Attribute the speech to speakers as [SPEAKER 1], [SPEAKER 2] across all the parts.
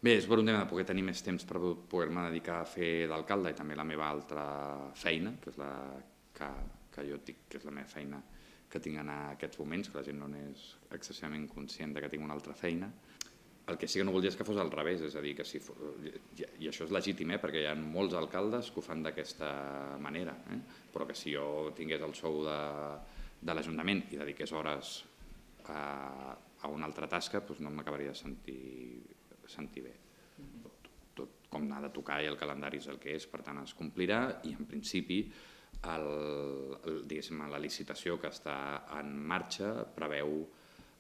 [SPEAKER 1] Bé, és per un tema de poder tenir més temps per poder-me dedicar a fer d'alcalde i també la meva altra feina, que és la que jo dic que és la meva feina que tinc en aquests moments, que la gent no n'és excessivament conscient que tinc una altra feina. El que sí que no voldria és que fos al revés, és a dir, que si i això és legítim, perquè hi ha molts alcaldes que ho fan d'aquesta manera, però que si jo tingués el sou de l'Ajuntament i dediqués hores a una altra tasca, doncs no m'acabaria de sentir bé. Tot com n'ha de tocar i el calendari és el que és, per tant es complirà i en principi la licitació que està en marxa preveu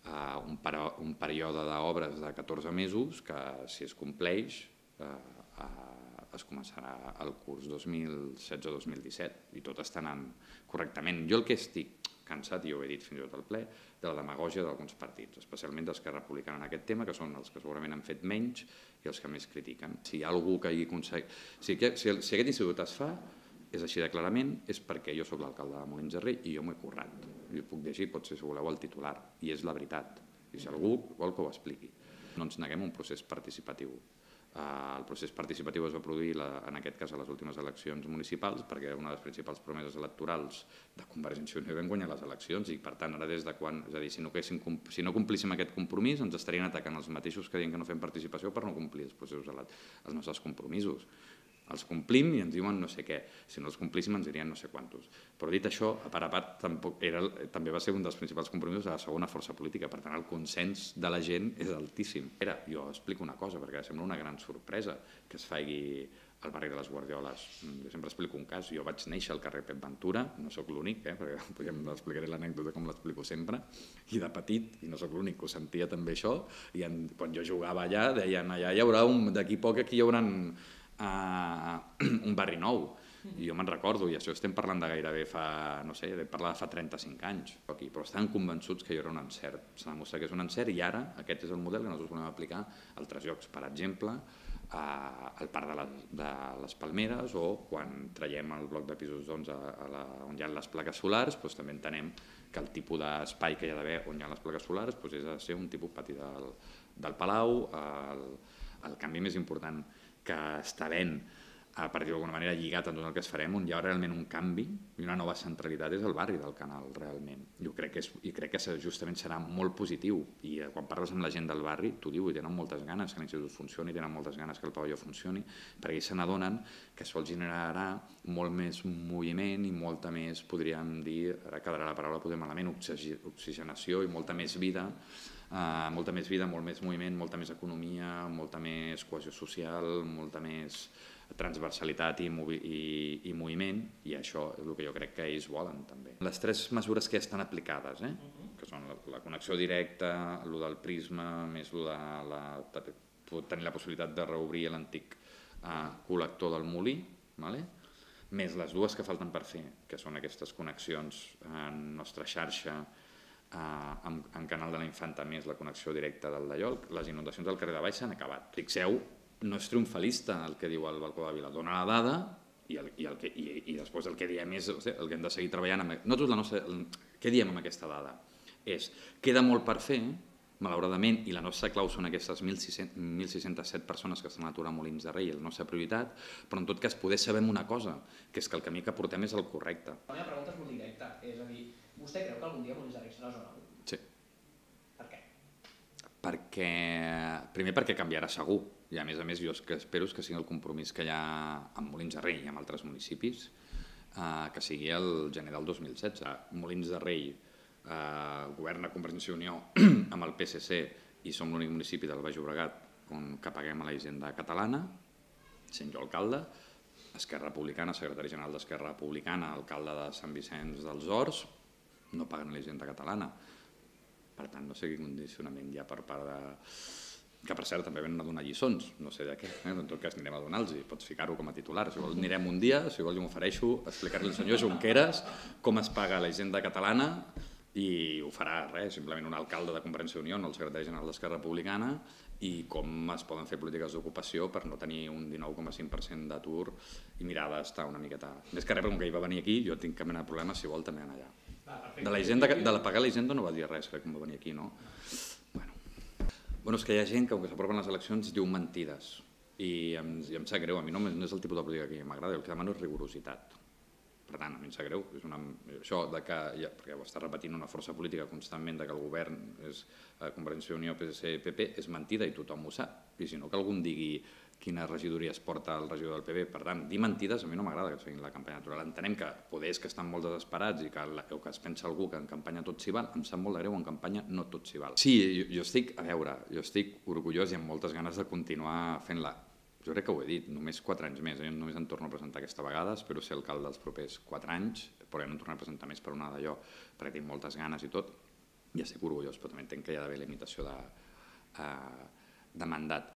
[SPEAKER 1] un període d'obres de 14 mesos que si es compleix es començarà el curs 2016-2017 i tot està anant correctament. Jo el que estic cansat, i ho he dit fins i tot al ple, de la demagògia d'alguns partits, especialment d'Esquerra Republicana en aquest tema, que són els que segurament han fet menys i els que més critiquen. Si hi ha algú que hi aconsegueix... Si aquest institut es fa, és així de clarament, és perquè jo soc l'alcalde de Molins de Rei i jo m'ho he currat. Jo puc llegir, potser si voleu, el titular, i és la veritat. I si algú vol que ho expliqui. No ens neguem a un procés participatiu. El procés participatiu es va produir, en aquest cas, a les últimes eleccions municipals, perquè una de les principals promeses electorals de Convergència i Unió vam guanyar les eleccions i, per tant, ara des de quan... És a dir, si no complíssim aquest compromís, ens estarien atacant els mateixos que diuen que no fem participació per no complir els nostres compromisos. Els complim i ens diuen no sé què. Si no els complíssim ens dirien no sé quantos. Però dit això, a part també va ser un dels principals compromisos de la segona força política. Per tant, el consens de la gent és altíssim. Jo explico una cosa, perquè sembla una gran sorpresa que es faci al barri de les Guardioles. Jo sempre explico un cas. Jo vaig néixer al carrer Pep Ventura, no sóc l'únic, perquè explicaré l'anècdota com l'explico sempre, i de petit, i no sóc l'únic que ho sentia també això, i quan jo jugava allà, deien allà hi haurà d'aquí poc aquí hi haurà un barri nou, i jo me'n recordo, i això estem parlant de gairebé fa, no sé, parlar de fa 35 anys, però estan convençuts que hi haurà un encert, s'ha demostrat que és un encert i ara aquest és el model que nosaltres volem aplicar a altres llocs, per exemple, al Parc de les Palmeres o quan traiem el bloc de pisos on hi ha les plaques solars, també entenem que el tipus d'espai que hi ha d'haver on hi ha les plaques solars és de ser un tipus pati del Palau. El canvi més important que està ben, per dir-ho d'alguna manera, lligat amb tot el que es farem, on hi ha realment un canvi i una nova centralitat és el barri del Canal, realment. Jo crec que justament serà molt positiu i quan parles amb la gent del barri, t'ho diu, i tenen moltes ganes que l'institut funcioni, tenen moltes ganes que el pavelló funcioni, perquè ells se n'adonen que això els generarà molt més moviment i molta més, podríem dir, ara quedarà la paraula potser malament, oxigenació i molta més vida, molt més moviment, molta més economia, molta més cohesió social, molta més transversalitat i moviment, i això és el que jo crec que ells volen també. Les 3 mesures que ja estan aplicades, que són la connexió directa, el del prisma, més tenir la possibilitat de reobrir l'antic col·lector del molí, més les 2 que falten per fer, que són aquestes connexions en nostra xarxa, en Canal de la Infanta més la connexió directa del Dallol. Les inundacions del carrer de Baix s'han acabat. Fixeu, no és triomfalista el que diu el balcó de Vila, dona la dada i després el que diem és el que hem de seguir treballant. Què diem amb aquesta dada? Queda molt per fer, malauradament, i la nostra clau són aquestes 1.607 persones que estan a l'atur a Molins de Rei, la nostra prioritat, però en tot cas poder saber una cosa, que és que el camí que portem és el correcte.
[SPEAKER 2] La meva pregunta és molt directa, és a dir, vostè creu que algun dia Molins de Rei serà zona 1?
[SPEAKER 1] Sí.
[SPEAKER 2] Per què?
[SPEAKER 1] Primer perquè canviarà segur, i a més jo espero que sigui el compromís que hi ha amb Molins de Rei i amb altres municipis, que sigui el gener del 2016. Molins de Rei governa Convergència i Unió amb el PSC i som l'únic municipi del Baix Llobregat que paguem a la Hisenda catalana, sent jo alcalde, Esquerra Republicana, secretari general d'Esquerra Republicana, alcalde de Sant Vicenç dels Horts, no paguen a la Hisenda catalana. Per tant, no sé quin condicionament hi ha per part de... que per cert també venen a donar lliçons, no sé de què, en tot cas anirem a donar-los, pots ficar-ho com a titular, si vols anirem un dia, si vols jo m'ofereixo a explicar-li al senyor Junqueras com es paga a la Hisenda catalana i ho farà simplement un alcalde de Convergència i Unió, no el secretari general d'Esquerra Republicana, i com es poden fer polítiques d'ocupació per no tenir un 19,5% d'atur i mirar d'estar una miqueta... Més que res, com que ell va venir aquí, jo tinc cap mena de problema, si vol també anar allà. De la pagar la Hisenda no va dir res, crec, com va venir aquí, no? Bueno, és que hi ha gent que, quan s'apropen les eleccions, diu mentides. I em sap greu, a mi no és el tipus de política que m'agrada, el que demano és rigorositat. Per tant, a mi em sap greu, això que, perquè ho està repetint una força política constantment, que el govern és Convergència i Unió, PSC, PP, és mentida i tothom ho sap. I si no, que algú digui quina regidoria es porta el regidor del PP. Per tant, dir mentides a mi no m'agrada que es facin la campanya electoral. Entenem que poder és que estan molt desesperats i que es pensa algú que en campanya tot s'hi val. Em sap molt de greu, en campanya no tot s'hi val. Sí, jo estic orgullós i amb moltes ganes de continuar fent-la. Jo crec que ho he dit, només 4 anys més. Jo només em torno a presentar aquesta vegada, espero ser alcalde dels propers 4 anys, però ja no em tornaré a presentar més per una d'allò, perquè tinc moltes ganes i tot. Ja estic orgullós, però també entenc que hi ha d'haver limitació de mandat.